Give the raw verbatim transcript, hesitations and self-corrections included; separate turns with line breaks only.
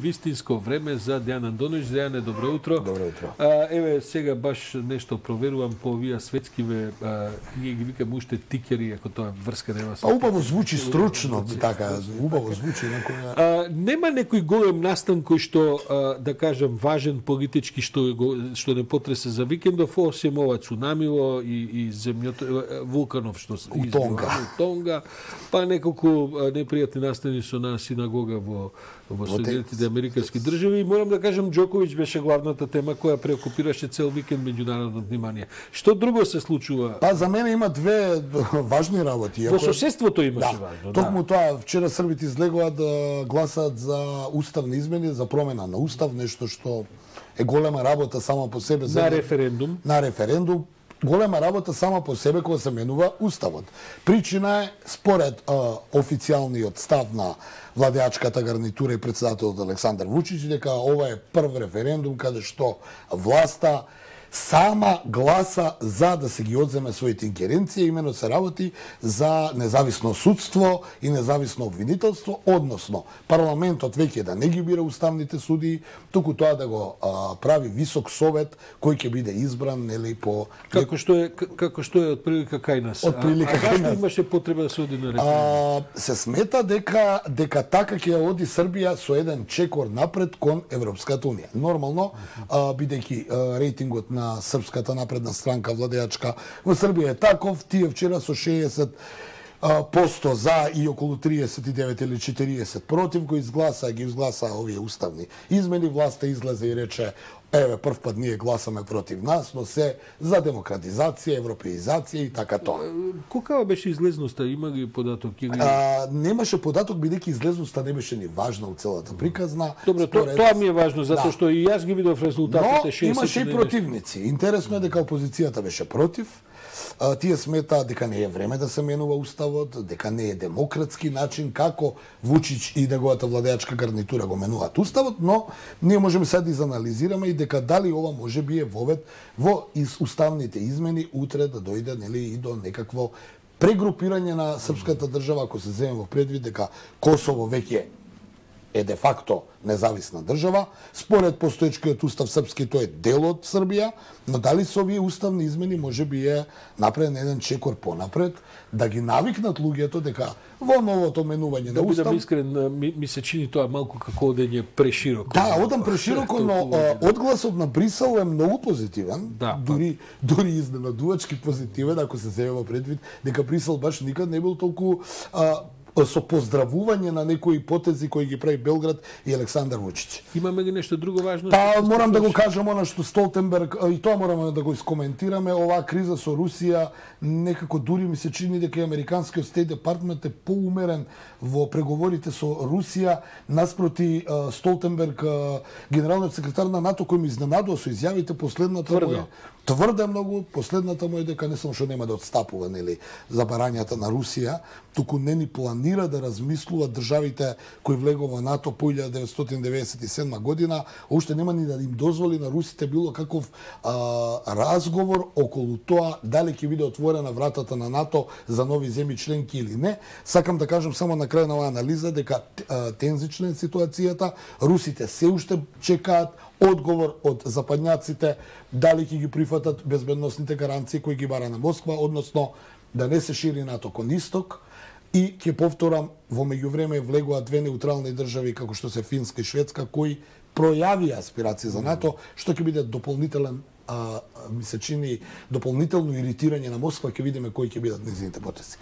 Вистинско време за Дејан Андоновиќ. Дејане, добро утро.
Добро утро.
А, еве сега баш нешто проверувам по овие светскиве, а, ние ги викаме уште тикери, ако тоа врска нема со.
А убаво звучи стручно, така, убаво звучи некоја.
А, нема некој голем настан кој што а, да кажам важен политички што го, што не потресе за викендов, осем ова цунамиво и и земјото вулканов што
у Тонга.
У Тонга, па неколку непријатни настани со на синагога во во Соединетите Американски држави. И морам да кажам, Џоковиќ беше главната тема која преокупираше цел викенд меѓународно внимание. Што друго се случува?
Па за мене има две важни работи.
Во соседството имаше
да,
важно.
Токму да. Тоа, вчера Србите излегува да гласат за уставни измени, за промена на устав, нешто што е голема работа само по себе.
На референдум.
На референдум. Голема работа сама по себе кога се менува уставот. Причина е, според а, официјалниот став на владеачката гарнитура и председателот Александар Вучич, дека ова е прв референдум каде што власта сама гласа за да се ги одземе своите ингеренции, имено се работи за независно судство и независно обвинителство, односно парламентот веќе да не ги бира уставните судии, туку тоа да го а, прави висок совет кој ќе биде избран нели по
како што е како што е отприлика кај нас.
Од прилика кај нас.
Имаше потреба да се оди на референдум.
Се смета дека дека така ќе оди Србија со еден чекор напред кон Европската унија. Нормално, а, бидејќи а, рейтингот на на Српската напредна странка владеачка во Србија е таков, тие вчера со шеесет посто за и околу триесет и девет или четириесет против го изгласа, ги изгласа овие уставни измени, власта излезе и рече еве прв пат ние гласаме против нас, но се за демократизација, европеизација и така тоа.
Колкава беше излезноста? Има ги податок или
а, немаше податок бидејќи излезноста не беше ни важна у целата приказна.
Добро, според... тоа ми е важно затоа да. Што и јас ги видов резултатите.
Но
шеесет
имаше и противници. Интересно е дека опозицијата беше против. А, тие сметаат дека не е време да се менува уставот, дека не е демократски начин како Вучич и неговата владеачка гарнитура го менуваат уставот, но ние можеме сега да изанализираме и дека дали ова може би е вовед во из уставните измени утре да дојде нели и до некакво прегрупирање на српската држава, ако се земе во предвид дека Косово веќе е де факто независна држава. Според постоечкиот устав српски тој е дел од Србија, но дали со овие уставни измени може би е направен еден чекор понапред да ги навикнат луѓето дека во новото менување
да
на устав.
Да бидам искрен, ми, ми се чини тоа малку како одење прешироко.
Да, одам прешироко, но одгласот на Брисел е многу позитивен,
да,
дури дури изненадувачки позитивен, ако се земе во предвид дека Брисел баш никад не бил толку а, со поздравување на некои потези кои ги прави Белград и Александар Вучич.
Имаме ли нешто друго важно?
Па морам да го кажам она што Столтенберг, и тоа мораме да го искоментираме, оваа криза со Русија, некако дури ми се чини дека американскиот Стейт департмент е поумерен во преговорите со Русија наспроти Столтенберг, генералниот секретар на НАТО, кој ми изненадува со изјавите последната
тврдо.
Тврде многу, последната му е дека не само што нема да отстапува нели за барањата на Русија, туку не ни планира да размислува државите кои влегува во НАТО по илјада деветстотини деветдесет и седма година, уште нема ни да им дозволи на русите било каков а, разговор околу тоа дали ќе биде отворена вратата на НАТО за нови земји членки или не. Сакам да кажам само на крај на оваа анализа дека а, тензична е ситуацијата, русите се уште чекаат одговор од западњаците дали ќе ги прифатат безбедносните гаранции кои ги бара на Москва, односно да не се шири НАТО кон исток. И ќе повторам, во меѓувреме влегува две неутрални држави како што се Финска и Шведска кои пројавија аспирации за НАТО, што ќе биде дополнителен а, ми се чини дополнително иритирање на Москва, ќе видиме кои ќе бидат нејзините потези.